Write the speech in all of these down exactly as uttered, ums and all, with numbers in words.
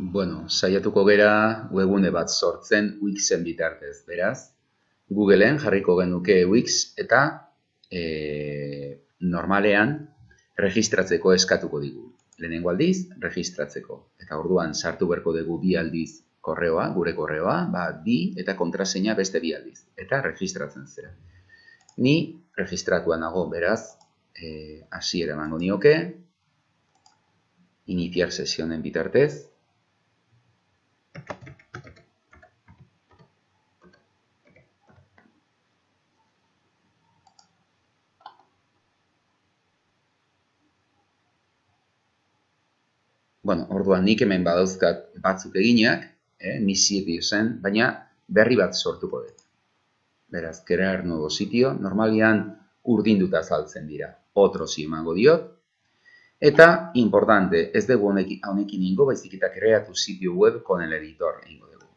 Bueno, saiatuko gera webgune bat sortzen Wixen bitartez, beraz. Googleen jarriko genuke Wix eta e, normalean registratzeko eskatuko digu. Lehenengo aldiz, registratzeko. Eta orduan sartu beharko dugu bi aldiz korreoa, gure korreoa, ba, bi eta kontraseina beste bi aldiz. Eta registratzen zera. Ni registratua nago, beraz, e, hasiera emango nioke, iniciar sesionen bitartez. Bueno, orduan nik hemen badauzkat batzuk eginak, eh, ni siete zen, baina berri bat sortuko dut. Beraz, crear nuevo sitio, normalian urdinduta azaltzen dira. Otro si emango diot. Eta, importante, ez dugu honekin ingo, baizik eta kreatu sitio web con el editor ingo dugu.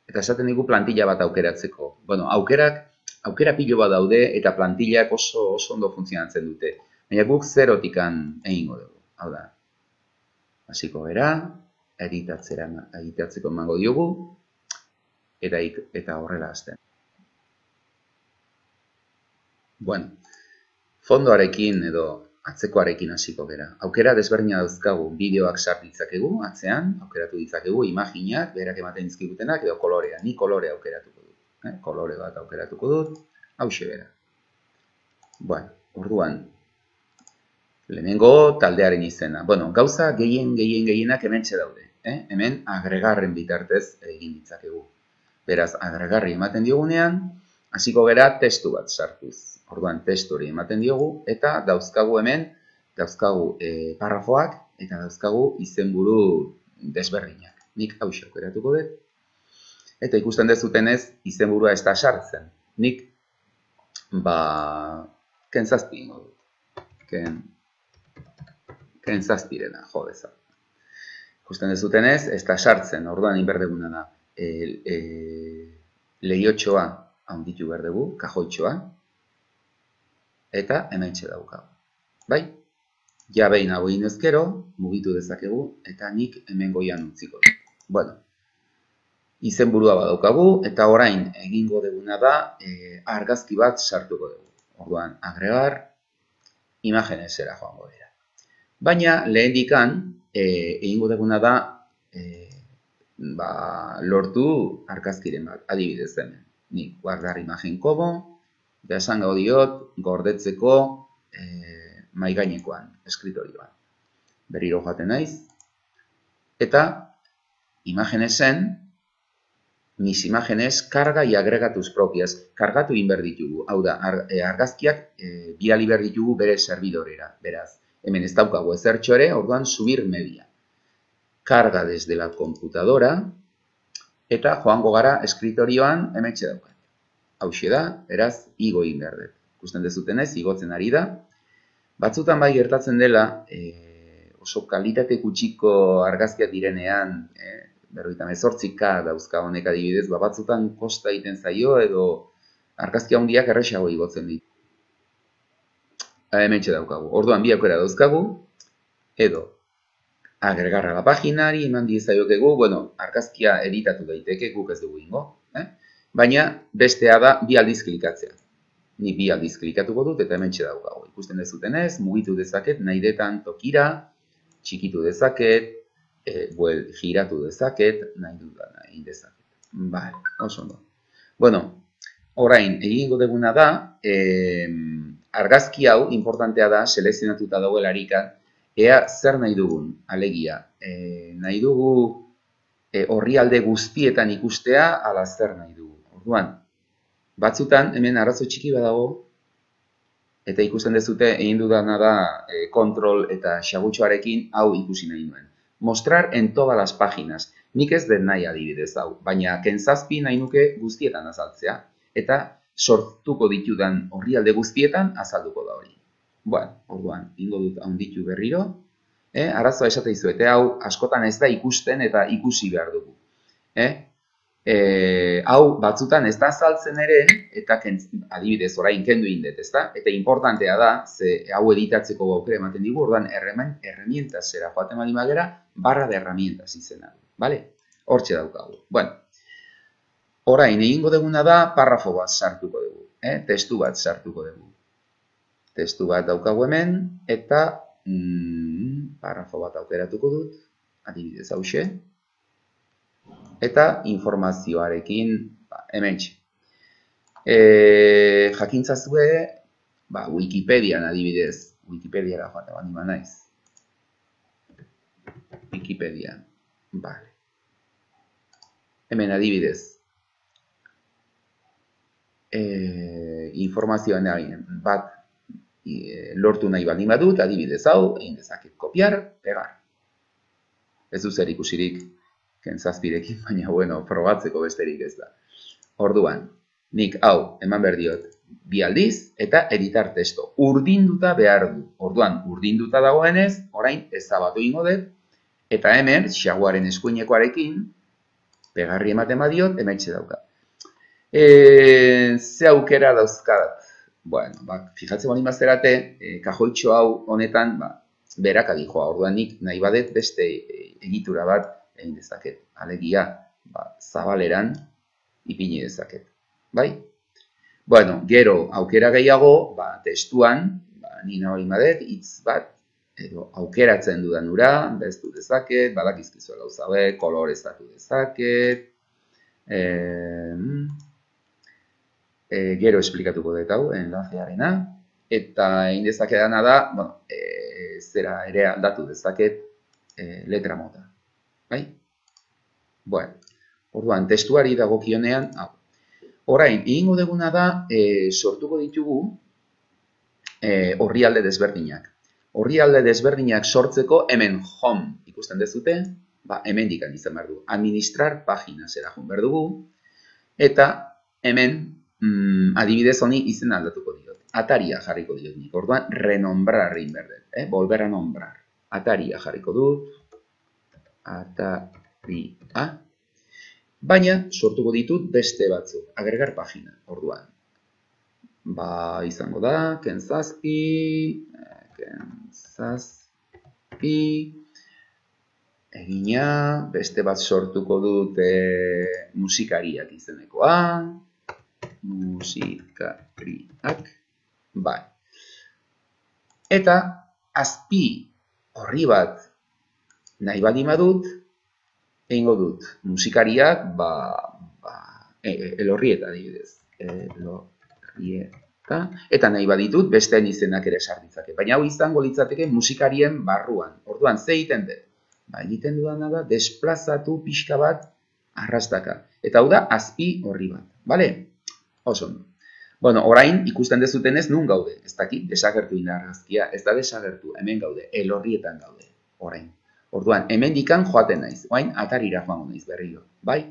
Eta esaten dugu plantilla bat aukeratzeko. Bueno, aukerak, aukera pilo bat daude eta plantillak oso, oso ondo funtzionatzen dute. Baina guk zerotikan egingo dugu. Hau da. Hasiko gara, editatzeko emango diogu, eta, eta horrela hasten. Bueno, fondoarekin edo atzekoarekin hasiko gara. Aukera desberdina dauzkagu, bideoak sart ditzakegu, atzean, aukeratu ditzakegu, imaginak, berak ematen dizkigutenak, edo kolorea. Ni kolore aukeratuko dut. Eh? Kolore bat aukeratuko dut, hauxe bera. Bueno, orduan, lehenengo taldearen izena. Bueno, gauza gehien, gehien, gehienak hementxe daude. Eh? Hemen agregarren bitartez egin ditzakegu. Beraz, agregarri ematen diogunean, hasiko gera testu bat sartuz. Orduan, testu hori ematen diogu, eta dauzkagu hemen, dauzkagu e, parrafoak, eta dauzkagu izenburu desberdinak. Nik hauxe aukeratuko dut. Eta ikusten dezutenez, izenburua ez da sartzen. Nik, ba, kentzazpi ingo dut. Ken... Ken zazpirena, jo deza. Ikusten dezutenez, ez da sartzen, orduan inberdeguna da. E, e, lehiotxoa handitu berdegu, kajoitxoa, eta hementxe daukagu. Bai? Ja behin hau egin ezkero, mugitu dezakegu, eta nik hemen goian utziko dut. Bueno, izenburua badaukagu, eta orain egingo duguna da, e, argazki bat sartuko dugu. Orduan, agregar, imagenesera joango dira. Baina, lehen dikan, e, egingo duguna da, e, ba, lortu argazkiren bat, adibidez hemen. Nik, guardar imagen kobo, eta esan gau diot, gordetzeko e, maigainekoan, eskriterioan. Berriro joaten naiz. Eta, imagenesen, mis imagenes, karga y agregatus propias. Kargatu inber ditugu. Hau da, ar, e, argazkiak e, bidali behar ditugu bere servidorera, beraz. Hemen ez daukagu ezertxo ere, orduan subir media. Karga desde la computadora, eta joango gara eskriterioan hementxe daukat. Hauxe da, beraz, igo egin behar dut. Ikusten dezutenez, igotzen ari da. Batzutan bai gertatzen dela, e, oso kalitate gutxiko argazkiak direnean, e, berrogeita hemezortzika dauzka honek adibidez, ba, batzutan kosta egiten zaio edo argazki handiak erresago igotzen ditu. Hementxe daukagu. Orduan bi aukera dauzkagu, edo agregar a la paginari, eman diezaiokegu, bueno, argazkia editatu daiteke, guk ez dugu ingo, eh? Baina bestea da bi aldiz klikatzea. Ni bi aldiz klikatuko dut eta hementxe daukagu. Ikusten dezutenez, mugitu dezaket, nahi detan tokira, txikitu dezaket, e, buel, giratu dezaket, nahi dudan egin dezaket. Bale, oso ondo. Bueno, orain, egingo duguna da, e, argazki hau, importantea da, selekzionatuta dagoelarikan, ea zer nahi dugun, alegia. E, nahi dugu e, orrialde guztietan ikustea, ala zer nahi dugu. Orduan, batzutan, hemen arazo txiki badago, eta ikusten dezute, egin dudana da, e, kontrol eta xagutxoarekin hau ikusi nahi nuen. Mostrar en todas las páginas. Nik ez den nahi adibidez hau, baina kentzazpi nahi nuke guztietan azaltzea, eta sortuko ditudan orrialde guztietan azalduko da hori. Bueno, orduan, ingo dut handitu berriro. Eh, arazoa esate dizuete, hau askotan ez da ikusten eta ikusi behar dugu. Eh? E, hau batzutan ez da azaltzen ere, eta kentz, adibidez orain kendu indet, ez da? Eta importantea da, ze hau editatzeko aukera ematen digu, orduan herramientasera joaten bali magera, barra de herramientas izena. Vale? Hortxe daukagu. Bueno, orain egingo duguna da, parrafo bat sartuko dugu. Eh? Testu bat sartuko dugu. Testu bat daukagu hemen, eta mm, parrafo bat aukeratuko dut, adibidez hause. Eta informazioarekin ba, hemen txe. E, jakintzazue, ba, Wikipedian adibidez, Wikipediara joaten bani ba naiz. Wikipedia, vale. Hemen adibidez, e, informazioan bat e, lortu nahi baldin badut, adibidez hau, egin dezaket kopiar, pegar. Ez du zer ikusirik kentzazpirekin, baina bueno, probatzeko besterik ez da. Orduan, nik hau eman behar diot bi aldiz eta editar testo. Urdinduta behar du. Orduan, urdinduta dagoenez, orain ezabatu ingo dut, eta hemen, xaguaren eskuinekoarekin, pegarri ematen badiot, hementxe dauka. E, ze aukera dauzkadat? Bueno, ba, fijatzen bali mazerate, e, kajoitxo hau honetan, ba, berak adijoa. Orduan, nik nahi badet beste egitura bat egin dezaket, alegia, ba, zabaleran ipini dezaket, bai? Bueno, gero aukera gehiago, ba, testuan, ba, nina hori madet, hitz bat, edo aukeratzen dudan ura, beztu dezaket, badakizkizu gauza be, koloreztatu dezaket, e, e, gero esplikatuko dut hau, enlacearena, eta egin dezakedana da, bueno, e, zera ere aldatu dezaket e, letra mota. Bai? Bueno, orduan, testuari dagokionean, hau. Orain, egingo duguna da, e, sortuko ditugu e, orrialde desberdinak. Orrialde desberdinak sortzeko hemen home ikusten dezute, ba, hemen dikan izan behar du. Administrar pagina zera joan behar dugu, eta hemen, mm, adibidez honi izen aldatuko diot. Ataria jarriko diot nik. Orduan, renombrar egin behar dut, eh? Volver a nombrar. Ataria jarriko dut. Ataria. Baina, sortuko ditut beste batzuk. Agregar pagina, orduan. Ba, izango da, kentzazpi, kentzazpi, egina, beste bat sortuko dut e, musikariak izenekoa, musikariak, bai. Eta, azpi horri bat nahi baldin badut, egingo dut musikariak, ba, ba, e, e, elorrieta adibidez, elorrieta, eta nahi baditut besteen izenak ere sarditzake. Baina hau izango litzateke musikarien barruan. Orduan, ze egiten dut? Ba, egiten dudana da, desplazatu pixka bat arrastaka. Eta hau da, azpi horri bat. Bale? Oso ondo. Bueno, orain ikusten dezutenez nun gaude. Ez dakit, desagertu inarrazkia, ez da desagertu, hemen gaude, elorrietan gaude, orain. Orduan, hemen dikan joaten naiz, orain atarira joango naiz berriro, bai?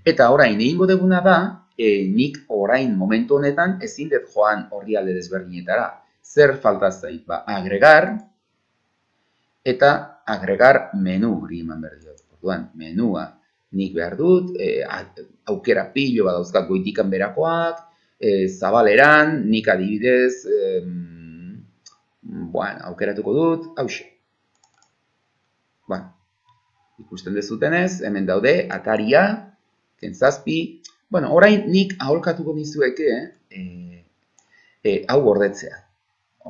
Eta orain egingo duguna da, e, nik orain momentu honetan ezin dut joan orrialde desberdinetara. Zer falta zait? Ba, agregar, eta agregar menu hori eman behar diot. Orduan, menua nik behar dut, e, aukera pilo badauzkat goitikan berakoak, e, zabaleran, nik adibidez, e, bueno, aukeratuko dut, hause. Bueno, ikusten dezutenez, hemen daude, ataria, kentzazpi. Bueno, orain nik aholkatuko nizueke, e, e, hau gordetzea.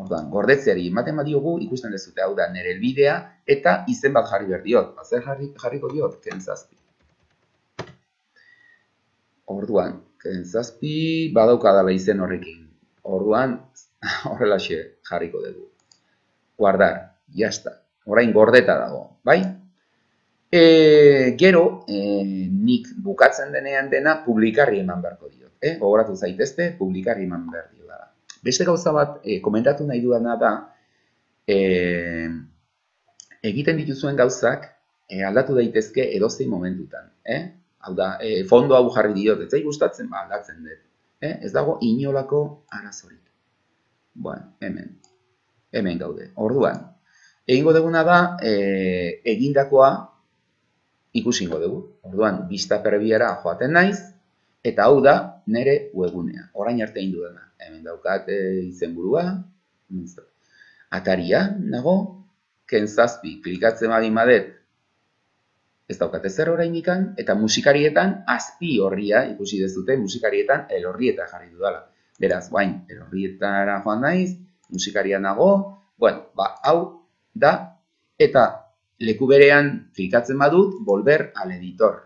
Orduan, gordetzeari ematen badiogu, ikusten dezute, hau da, nire helbidea, eta izen bat jarri behar diot. Zer jarri, jarriko diot, kentzazpi. Orduan, kentzazpi badaukadala izen horrekin. Orduan, horrelaxe jarriko dugu. Guardar, jazta. Orain gordeta dago, bai? E, gero, e, nik bukatzen denean dena publikarri eman beharko diot. Eh? Gogoratu zaitezte, publikarri eman behar dio da. Beste gauza bat, e, komentatu nahi dudana da, e, egiten dituzuen gauzak e, aldatu daitezke edozein momentutan. Eh? Hau da, e, fondo hau jarri diot, ez zait gustatzen, ba, aldatzen dut. Eh? Ez dago inolako arazorik. Bueno, hemen. Hemen gaude. Orduan, egingo duguna da, e, egindakoa ikusingo dugu. Orduan, bista perbiera joaten naiz, eta hau da nire webgunea. Orain arte egin dudana. Hemen daukat izenburua, ataria nago, ken zazpi klikatzen badin badet, ez daukate zer oraindikan, eta musikarietan azpi horria, ikusi dezute, musikarietan elorrieta jarri dudala. Beraz, bain, elorrietara joan naiz, musikaria nago, bueno, ba, hau da, eta leku berean klikatzen badut, volver al editor.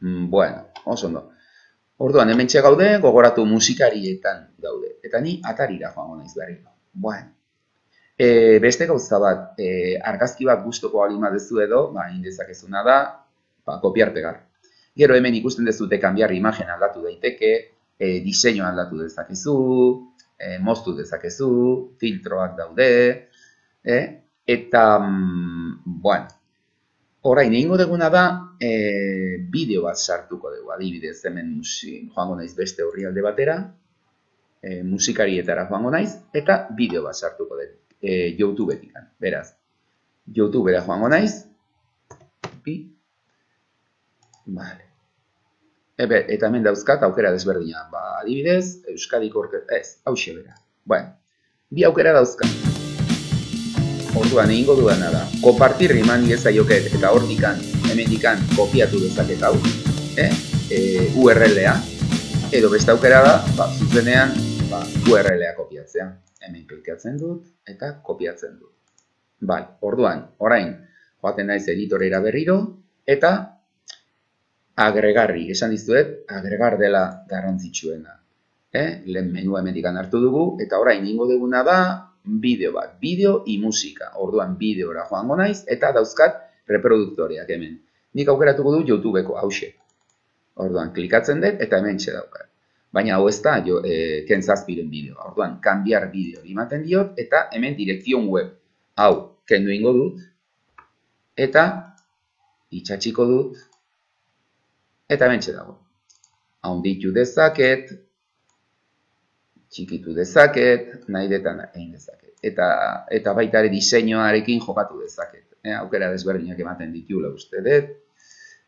Mm, bueno, oso ondo. Orduan, hementxe gaude, gogoratu musikarietan gaude. Eta ni atarira joango naiz berriro. Bueno. E, beste gauza bat, e, argazki bat gustoko balima dezu edo, ba, indezakezuna da, ba, kopiar pegar. Gero hemen ikusten dezute kanbiar imagen aldatu daiteke, e, diseinu aldatu dezakezu, e, moztu dezakezu, filtroak daude, e, eta, mm, bueno, orain egingo duguna da, e, bideo bat sartuko dugu, adibidez hemen musi, joango naiz beste orrialde batera, e, musikarietara joango naiz, eta bideo bat sartuko dugu. E, YouTubetik. Beraz, YouTubera joango naiz. Bi. Vale. Ebe, eta hemen dauzkat aukera desberdina. Ba, adibidez, Euskadiko orkestra. Ez, hauxe bera. Bueno, bi aukera dauzkat. Orduan egingo dudana da. Kompartir eman diezaioket eta hortikan, hemendikan kopiatu dezaket hau. Eh? E, U R L-a. Edo beste aukera da, ba, zuzenean, ba, U R L-a kopiatzea. Hemen klikatzen dut, eta kopiatzen dut. Bai, orduan, orain, joaten naiz editorera berriro, eta agregarri, esan dizuet, agregar dela garrantzitsuena. Eh? Lehen menua hemendikan hartu dugu, eta orain ingo duguna da, bideo bat, bideo i musika. Orduan, bideora joango naiz, eta dauzkat reproduktoreak hemen. Nik aukeratuko du YouTubeko, hauxe. Orduan, klikatzen dut, eta hemen txe daukat. Baina hau ez da, jo, e, ken zazpiren bideoa. Orduan, kanbiar bideo ematen diot, eta hemen direkzion web. Hau, kendu ingo dut, eta itxatxiko dut, eta hemen dago. Haunditu dezaket, txikitu dezaket, nahi detan egin dezaket. Eta, eta baita ere diseinuarekin jokatu dezaket. E, aukera desberdinak ematen ditula uste dut,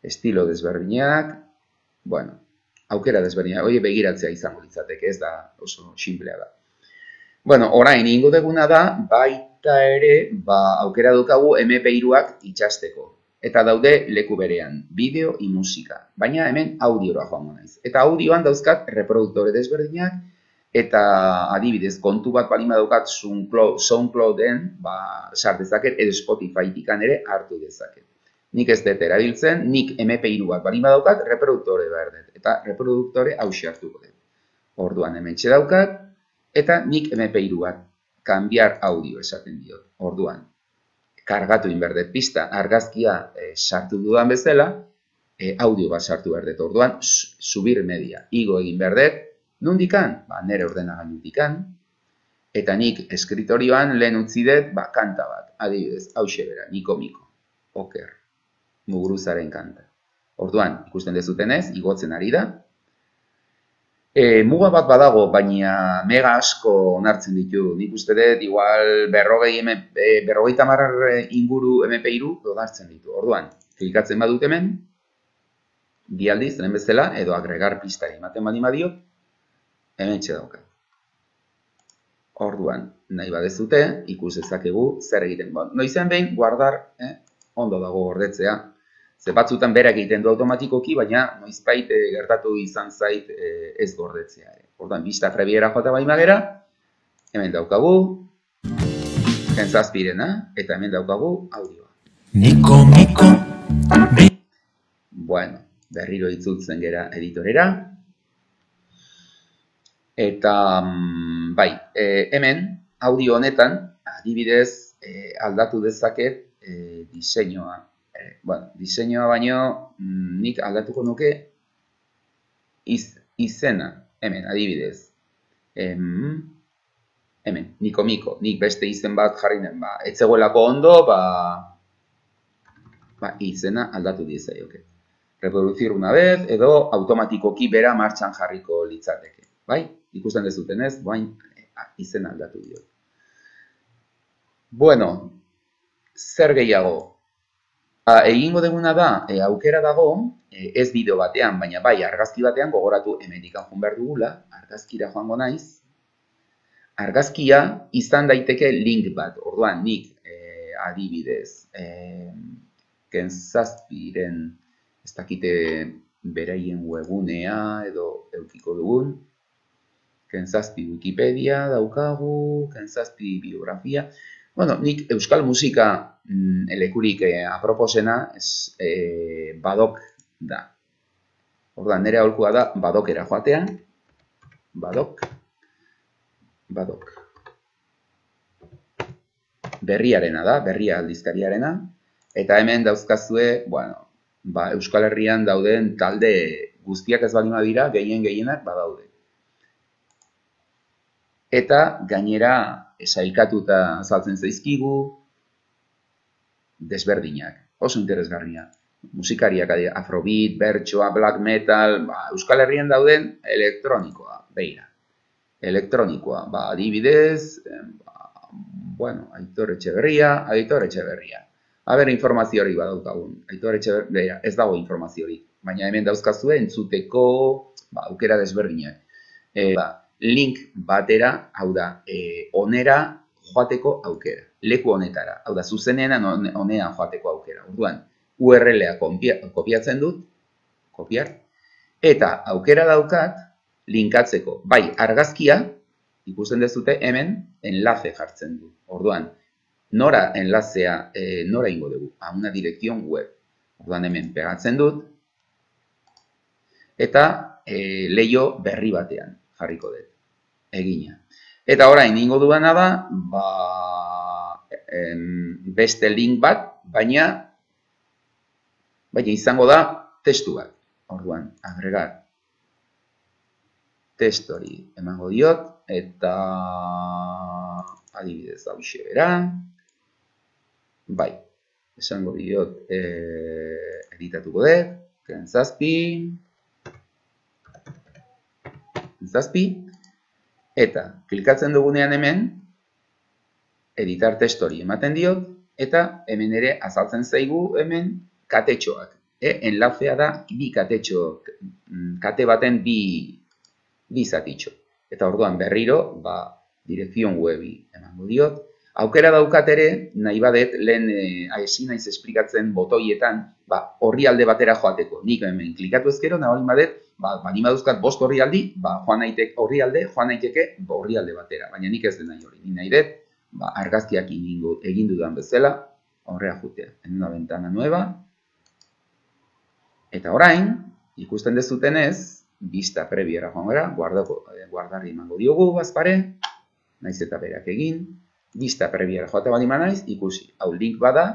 estilo desberdinak, bueno, aukera desberdina, hori begiratzea izango litzateke, ez da oso sinplea da. Bueno, orain ingo deguna da, baita ere, ba, aukera dukagu eme pe hiruak itxasteko. Eta daude leku berean, bideo i musika. Baina hemen audiora joango naiz. Eta audioan dauzkat reproduktore desberdinak, eta adibidez, kontu bat balima daukat SoundClouden, ba, sar dezaket, edo Spotify-tikan ere hartu dezaket. Nik ez dut erabiltzen, nik eme pe hiru bat balima daukat, reproduktore behar dut. Eta reproduktore hauxe hartuko dut. Orduan hemen txe daukat, eta nik eme pe hiru bat, kanbiar audio esaten diot. Orduan, kargatu inberdet pista, argazkia e, sartu dudan bezala, e, audio bat sartu berdet. Orduan, subir media, igo egin berdet, nundikan? Ba, nere ordenagailutikan, eta nik eskriterioan lehen utzi dut, ba, kanta bat, adibidez, hauxe bera, niko miko, oker. Muguruzaren kanta. Orduan, ikusten dezutenez, igotzen ari da. E, muga bat badago, baina mega asko onartzen ditu. Nik uste dut, igual berrogei, e, berrogei tamar inguru eme pe hiru onartzen ditu. Orduan, klikatzen badut hemen, bi aldiz, lehen bezala, edo agregar pistari ematen badi badiot, hemen txe daukat. Orduan, nahi badezute, ikus ezakegu zer egiten. Bon, noizen behin, guardar, eh, ondo dago gordetzea. Ze batzutan berak egiten du automatikoki, baina noizbait e, gertatu izan zait e, ez gordetzea. Orduan, bista prebiera jota baima gera, hemen daukagu, ken zazpirena, eta hemen daukagu audioa. Niko, niko, bi. Bueno, berriro itzultzen gera editorera. Eta, bai, e, hemen, audio honetan, adibidez, e, aldatu dezaket e, diseinua. E, bueno, diseinua baino, nik aldatuko nuke iz, izena, hemen, adibidez. Em, hemen, niko miko, nik beste izen bat jarri den, ba, etzegoelako ondo, ba, ba, izena aldatu diezaioke. Reproducir una vez, edo automatikoki bera martxan jarriko litzateke. Bai, ikusten dezutenez, bain izena aldatu dio. Bueno, zer gehiago? Egingo duguna da, e, aukera dago, e, ez bideo batean, baina bai argazki batean, gogoratu hemendik joan behar dugula, argazkira joango naiz. Argazkia izan daiteke link bat, orduan nik e, adibidez, e, Kenzazpiren, ez dakite beraien webunea edo eukiko dugun, Kenzazpi Wikipedia daukagu, Kenzazpi biografia. Bueno, nik euskal musika mm, elekurik eh, aproposena ez, eh, badok da. Orduan, nire aholkua da badokera joatea. Badok. Badok. Berriarena da, berria aldizkariarena. Eta hemen dauzkazue, bueno, ba, Euskal Herrian dauden talde guztiak ez balima dira, gehien gehienak badaude. Eta gainera sailkatuta azaltzen zaizkigu desberdinak, oso interesgarria. Musikariak adira, afrobeat, bertsoa, black metal, ba, Euskal Herrian dauden elektronikoa, beira. Elektronikoa, ba, adibidez, ba, bueno, Aitor Etxeberria, Aitor Etxeberria. Aber informazio hori badaukagun, Aitor Etxeberria, ez dago informazio hori, baina hemen dauzkazue entzuteko ba, aukera desberdinak. E, ba, link batera, hau da, e, onera joateko aukera, leku honetara, hau da, zuzenean honea joateko aukera. Orduan, U R L-a kopiatzen dut, kopiar, eta aukera daukat, linkatzeko, bai argazkia, ikusten dezute hemen, enlace jartzen du. Orduan, nora enlazea, e, nora ingo dugu, a una dirección web. Orduan hemen pegatzen dut, eta e, leio berri batean jarriko dut, egina. Eta orain ingo duana da, ba, em, beste link bat, baina, baina izango da testu bat. Orduan, agregar testori emango diot, eta adibidez hauxe bera. Bai, esango diot e, editatuko dut, Kenzazpi, Kenzazpi, eta klikatzen dugunean hemen, editar testori ematen diot, eta hemen ere azaltzen zaigu hemen katetxoak. E, enlazea da bi katetxo, kate baten bi, bi zatitxo. Eta orduan berriro, ba, direkzion webi emango diot. Aukera daukat ere, nahi badet, lehen ezin naiz esplikatzen botoietan, ba, orrialde batera joateko. Nik hemen klikatu ezkero, nahi badet, ba, bani baduzkat bost orrialdi, ba, joan naiteke orrialde, joan naiteke orrialde batera. Baina nik ez den nahi hori. Ni nahi dut, ba, argazkiak egin dudan bezala, horrea jutea. En una ventana nueva. Eta orain, ikusten dezutenez, vista prebiera joan gara, guardarri emango diogu bazpare, naiz eta berak egin, vista prebiera joate bali manaiz, ikusi, hau link bada,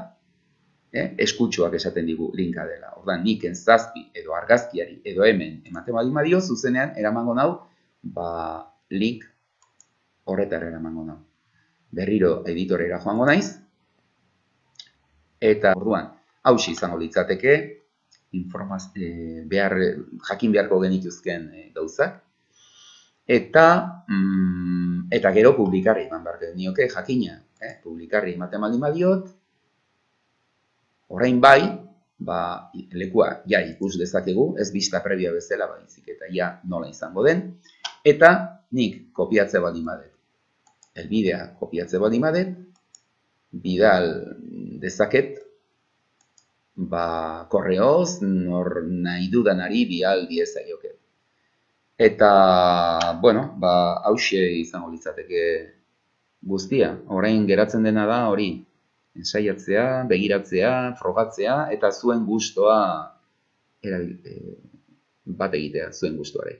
eh, eskutxoak esaten digu linka dela. Ordan nik Kenzazpi edo argazkiari edo hemen ematen bali madio, zuzenean eramango nau, ba, link horretara eramango nau. Berriro editorera joango naiz, eta orduan, hauxe izango litzateke, informaz, e, behar, jakin beharko genituzken e, gauzak. Eta, mm, eta gero publikarri eman behar genioke jakina. Eh? Publikarri ematen baldin badiot, orain bai, ba, lekua ja ikus dezakegu, ez bista previa bezala baizik eta ja nola izango den. Eta nik kopiatze baldin badet. Elbidea kopiatze baldin badet, bidal dezaket, ba, korreoz, nor nahi dudanari bihal diezaioke. Eta, bueno, ba, hauxe izango litzateke guztia. Orain geratzen dena da hori, ensaiatzea, begiratzea, frogatzea, eta zuen gustoa erabil, e, bat egitea, zuen gustoare.